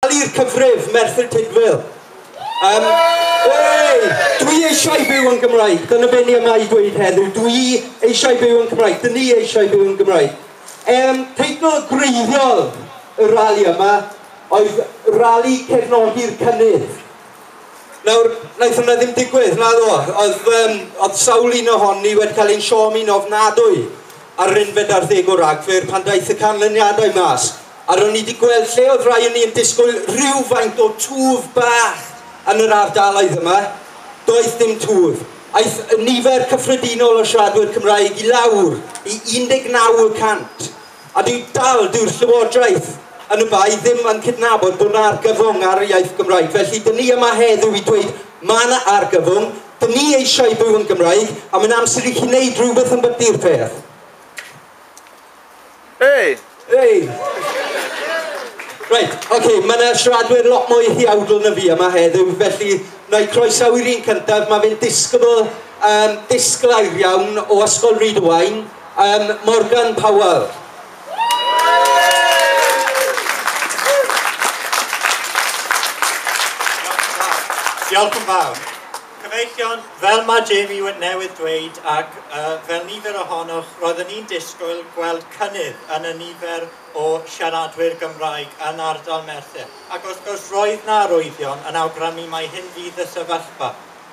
Rali'r cyfrif, Merthyr Tudful. Hey, dwi eisiau byw yn Gymraeg. Dyna be ni yma i dweud heddiw. Dwi eisiau byw yn Cymraeg. Dyn ni eisiau byw yn Gymraeg. Teitl gwreiddiol y rali yma oedd Rali Cefnogi'r Cynnydd. Nawr, wnaeth hwnna ddim digwydd, na ddo. Oedd sawl un ohoni wedi cael ein siomi'n ofnadwy ar yr 11 o Ragfyr pan daeth y canlyniadau mas. A ro'n ni wedi gweld lle oedd rai o'n ni yn disgwyl rhywfaint o twf bach yn yr ardaloedd yma. Doedd dim twf. Aeth y nifer cyffredinol o siaradwyr Cymraeg i lawr i 19%. A dyw'r Llywodraeth yn y bai ddim yn cydnabod bod yna argyfwng ar y iaith Gymraeg. Felly, dyn ni yma heddiw i dweud mae yna argyfwng, dyn ni eisiau byw yn Gymraeg, a mae'n amser i chi wneud rhywbeth yn byty'r peth. Hey! Hey! Reit, oce, mae yna siaradwyr lot mwy huawdl na fi yma heddiw, felly na i croesawu'r un cyntaf. Mae fe'n disgybl disglair iawn o Ysgol Rhyd-y-waun, Morgan Powell. Diolch yn fawr. Cyfeillion, fel mae Jamie newydd dweud ac fel nifer ohonoch, roeddwn ni'n disgwyl gweld cynnydd yn y nifer o siaradwyr Gymraeg yn ardal Merthyr. Ac wrth gwrs roedd na arwyddion yn awgrymu mai hyn fydd y sefyllfa.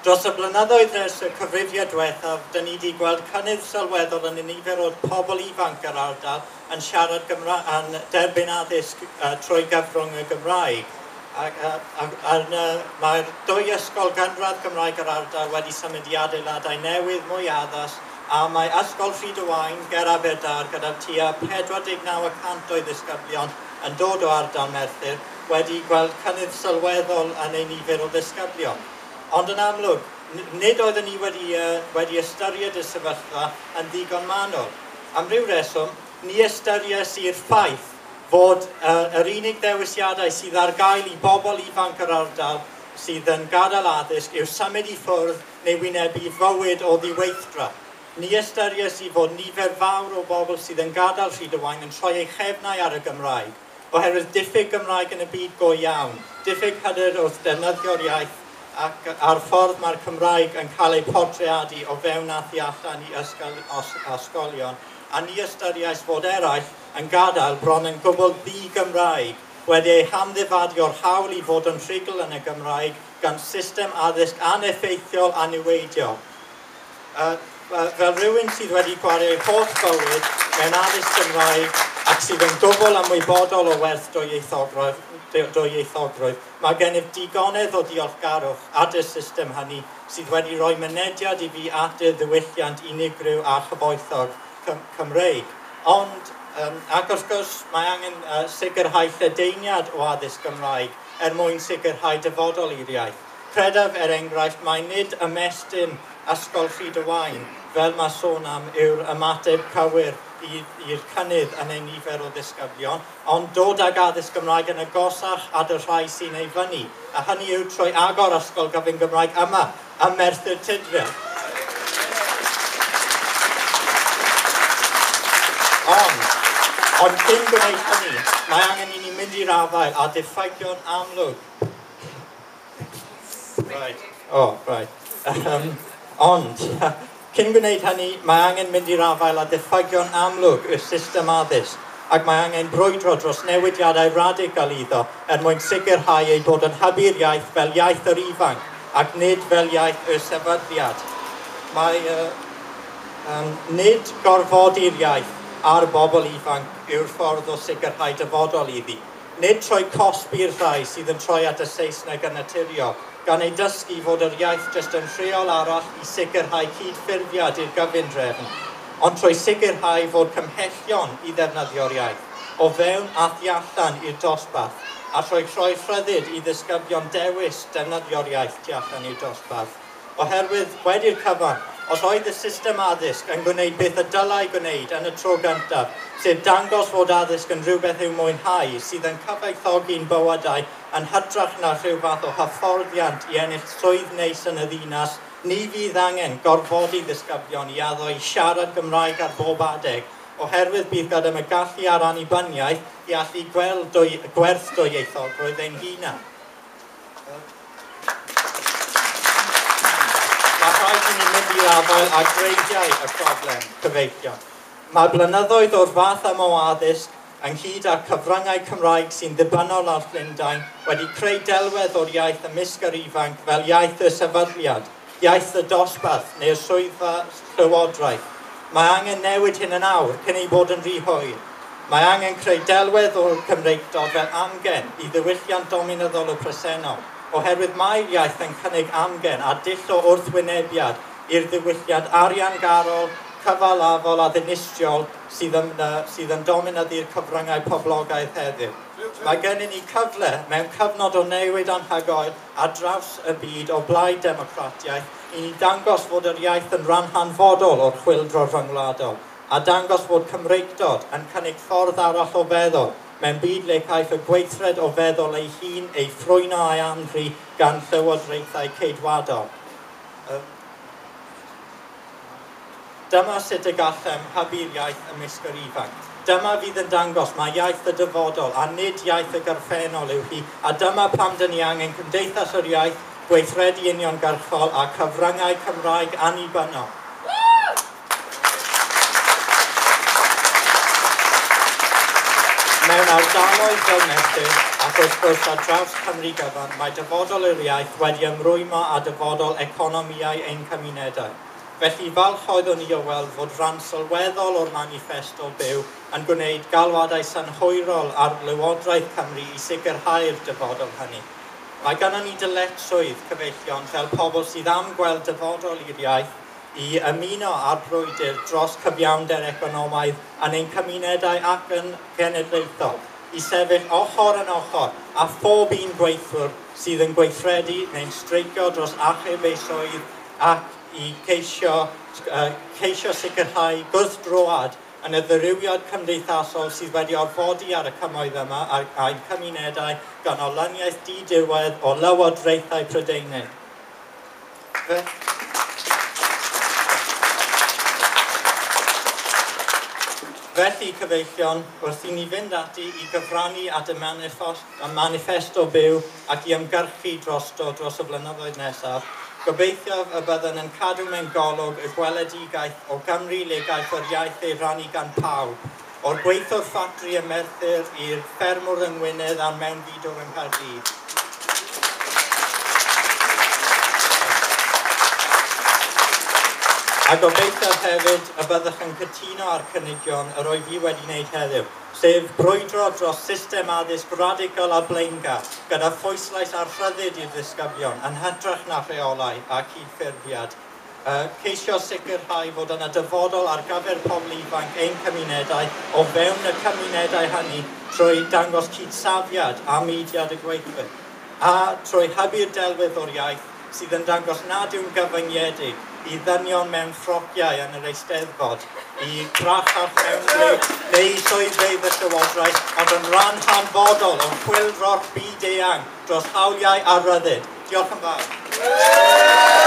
Dros y blynyddoedd ers y cyfrifiad diwethaf, dyn ni wedi gweld cynnydd sylweddol yn y nifer o pobl ifanc yr ardal yn siarad Gymraeg, yn derbyn addysg trwy gyfrwng y Gymraeg. Mae'r dwy ysgol gynradd Gymraeg yr ardal wedi symud i adeiladau newydd mwy addas, a mae Ysgol Rhyd-y-waun ger Aberdâr gyda tua 49% o'i ddisgyblion yn dod o ardal Merthyr wedi gweld cynnydd sylweddol yn ei nifer o ddisgyblion. Ond yn amlwg, nid oeddwn ni wedi ystyried y sefyllfa yn ddigon manwl. Am ryw reswm, ni ystyries i'r ffaith fod yr unig ddewisiadau sydd ar gael i bobl ifanc yr ardal sydd yn gadael addysg yw symud i ffwrdd neu wynebu fywyd o ddiweithdra. Ni ystyries i fod nifer fawr o bobl sydd yn gadael Rhyd-y-waun yn troi eu chefnau ar y Gymraeg, oherwydd diffyg Gymraeg yn y byd go iawn, diffyg hyder wrth defnyddio'r iaith ac a'r ffordd mae'r Cymraeg yn cael ei portreadu o fewn a thu allan i ysgolion, a ni ystyriais fod eraill yn gadael bron yn gwbl ddi-Gymraeg, wedi ei hamddifadu o'r hawl i fod yn rhugl yn y Gymraeg gan system addysg aneffeithiol a niweidiol. Fel rhywun sydd wedi gwario ei holl bywyd mewn addysg Gymraeg ac sydd yn gwbl ymwybodol o werth dwyieithogrwydd, mae gennyf digonedd o diolchgarwch at y system hynny sydd wedi rhoi mynediad i fi at y ddiwylliant unigryw a chyfoethog Cymreig. Ond, ac wrth gwrs, mae angen sicrhau lledaeniad o addysg Gymraeg er mwyn sicrhau dyfodol i'r iaith. Credaf, er enghraifft, mai nid ymestyn Ysgol Rhyd-y-waun, fel mae sôn am, yw'r ymateb cywir i'r cynnydd yn ei nifer o ddisgyblion, ond dod ag addysg Gymraeg yn agosach at y rhai sy'n ei fyny, a hynny yw trwy agor Ysgol Gyfun Gymraeg yma, ym Merthyr Tudful. Ond cyn gwneud hynny, mae angen i ni mynd i'r afael a diffygion amlwg. Right. Oh, right. Ond, cyn gwneud hynny, mae angen mynd i'r afael â diffygion amlwg y system addysg, ac mae angen brwydro dros newidiadau radical iddo er mwyn sicrhau ei bod yn hybu'r iaith fel iaith yr ifanc ac nid fel iaith y sefydliad. Mae nid gorfodi'r iaith ar bobl ifanc yw'r ffordd o sicrhau dyfodol iddi. Nid troi cosbi'r rhai sydd yn troi at y Saesneg yn naturiol, gan ei dysgu fod yr iaith jyst yn rheol arall i sicrhau cydffurfiad i'r gyfundrefn, ond trwy sicrhau fod cymhellion i ddefnyddio'r iaith, o fewn a thu allan i'r dosbarth, a trwy rhoi rhyddid i ddisgyblion dewis defnyddio'r iaith tu allan i'r dosbarth. Oherwydd, wedi'r cyfan, os oedd y system addysg yn gwneud beth y dylai gwneud yn y tro gyntaf, sef dangos fod addysg yn rhywbeth i'w mwynhau sydd yn cyfoethogi'n bywydau yn hytrach na rhyw fath o hyfforddiant i ennill swydd neis yn y ddinas, ni fydd angen gorfodi ddisgyblion i addo i siarad Gymraeg ar bob adeg, oherwydd bydd gyda y gallu a'r annibyniaeth i allu gweld gwerth dwyieithogrwydd ein hunan. Mae rhaid i ni mynd i'r afael â gwreiddiau y problem, cyfeillion. Mae blynyddoedd o'r fath yma o addysg, ynghyd â'r cyfryngau Cymraeg sy'n ddibynnol ar Llundain, wedi creu delwedd o'r iaith ymysg yr ifanc fel iaith y sefydliad, iaith y dosbarth neu'r swyddfa llywodraeth. Mae angen newid hyn yn awr cyn ei bod yn rhy hwyr. Mae angen creu delwedd o'r Cymreictod fel amgen i ddiwylliant dominyddol y presennol, oherwydd mae'r iaith yn cynnig amgen a dull o wrthwynebiad i'r ddiwylliant ariangarol, cyfalafol a ddinistriol sydd yn dominyddu'r cyfryngau poblogaidd heddiw. Mae gennym ni cyfle mewn cyfnod o newid anhygoel ar draws y byd o blaid democratiaeth i ni dangos fod yr iaith yn rhan hanfodol o'r chwyldro rhyngwladol a dangos fod Cymreictod yn cynnig ffordd arall o feddwl mewn byd le caiff y gweithred o feddwl ei hun ei ffrwyno a'i anfri gan llywodraethau ceidwadol. Dyma sut y gallem hybu'r iaith ymysg yr ifanc. Dyma fydd yn dangos mae iaith y dyfodol a nid iaith y gorffennol yw hi, a dyma pam dyn ni angen Cymdeithas yr Iaith, gweithredu uniongyrchol a cyfryngau Cymraeg annibynnol. Mewn ardaloedd fel Merthyr ac wrth gwrs ar draws Cymru gyfan, mae dyfodol yr iaith wedi ymrwymo â dyfodol economïau ein cymunedau. Felly falch oeddwn i o weld fod rhan sylweddol o'r maniffesto byw yn gwneud galwadau synhwyrol ar Lywodraeth Cymru i sicrhau'r dyfodol hynny. Mae gennym ni dyletswydd, cyfeillion, fel pobl sydd am gweld dyfodol i'r iaith i ymuno â'r brwydr dros cyfiawnder economaidd yn ein cymunedau ac yn genedlaethol, i sefyll ochr yn ochr â phob un gweithwr sydd yn gweithredu neu'n streicio dros achub ei swydd ac i ceisio sicrhau gwrthdroad yn y ddirywiad cymdeithasol sydd wedi orfodi ar y cymoedd yma a'n cymunedau gan olyniaeth diduedd o lywodraethau Prydeinig. Felly, cyfeillion, wrth i ni fynd ati i gyfrannu at y maniffesto byw ac i ymgyrchu drosto dros y blynyddoedd nesaf, gobeithio y byddwn yn cadw mewn golwg y gweledigaeth o Gymru le gaiff yr iaith ei rannu gan pawb, o'r gweithiwr ffatri ym Merthyr i'r ffermwr yng Ngwynedd a'r mewnfudwr yng Nghaerdydd. A gobeithio hefyd y byddwch yn cytuno â'r cynigion yr oedd i wedi wneud heddiw, sef brwydro dros system addysg radical a blaengar, gyda phwyslais ar rhyddid i'r ddisgyblion yn hytrach na rheolau a cydffurfiad. Ceisio sicrhau fod yna dyfodol ar gyfer pobl ifanc ein cymunedau o fewn y cymunedau hynny trwy dangos cydsafiad a mudiad y gweithwyr, a trwy hybu'r delwedd o'r iaith sydd yn dangos nad yw'n gyfyngedig i ddynion mewn ffrociau yn yr Eisteddfod, i grachach mewn neu i swyddfeydd y Llywodraeth, ond yn rhan hanfodol o'r chwyldro'r byd eang dros hawliau a rhyddid. Diolch yn fawr.